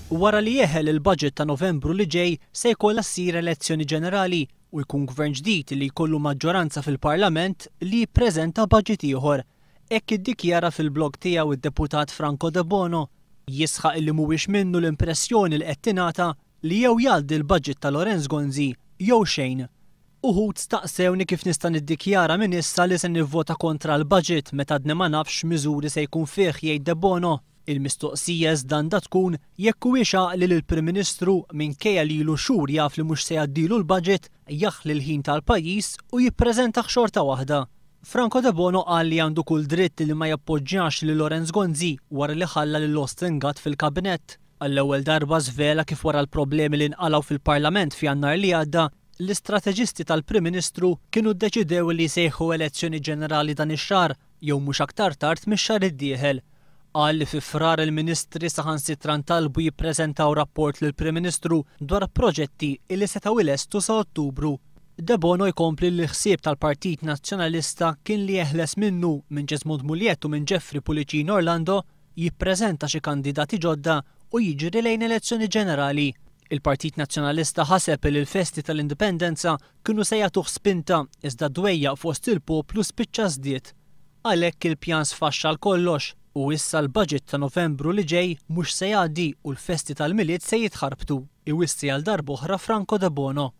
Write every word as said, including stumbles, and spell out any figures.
Wara li jeħel il-budget ta' Novembru li ġej, se jkollha ssir elezzjoni ġenerali u jkun gvern ġdid li jkollu maġġoranza fil-Parlament li jippreżenta budget ieħor. Hekk iddikjara fil-blog tiegħu id-deputat Franco Debono. Jisħaq li mhuwiex minnu l-impressjoni li qed tingħata li jew jgħaddi l-budget ta' Lawrence Gonzi jew xejn. Uħud staqsewni kif nista' niddikjara minn issa li se nivvota kontra l-budget meta għadni ma nafx miżuri se jkun fih, jgħid Debono. Il-mistoqsija iżda għandha tkun jekk huwiex għaqli li l-Prim Ministru, minkejja li ilu xhur jaf li mhux se jgħaddilu l-budget, jaħli l-ħin tal-pajjiż u jippreżenta xorta waħda. Franco Debono qal li għandu kull dritt li ma jappoġġjax lil Lawrence Gonzi wara li ħalla lil Austin Gatt fil-kabinett. Għall-ewwel darba żvela kif wara l-problemi li nqalgħu fil-Parlament f'Jannar li għadda, l-istrateġisti tal-Prim Ministru kienu ddeċidew li jsejħu elezzjoni ġenerali dan ix-xahar jew mhux aktar tard mix-xahar id-dieħel. Qal li fi Frar il-Ministri saħansitra ntalbu jippreżentaw rapport lill-Prim Ministru dwar proġetti li setgħu ilestu sa Ottubru. Debono jkompli li l-ħsieb tal-Partit Nazzjonalista kien li jeħles minnu, minn Jesmond Mugliett u minn Jeffrey Pullicino Orlando, jippreżenta xi kandidati ġodda u jiġri lejn elezzjoni ġenerali. Il-Partit Nazzjonalista ħaseb li l-festi tal-Indipendenza kienu se jagħtuh spinta, iżda dwejjaq fost il-poplu spiċċa żdied. Għalhekk il-pjan sfaxxa kollox u issa l-budget ta' Novembru li ġej mhux se jgħaddi u l-festi tal-Milied se jitħarbtu. Iwissi għal darb'oħra Franco Debono.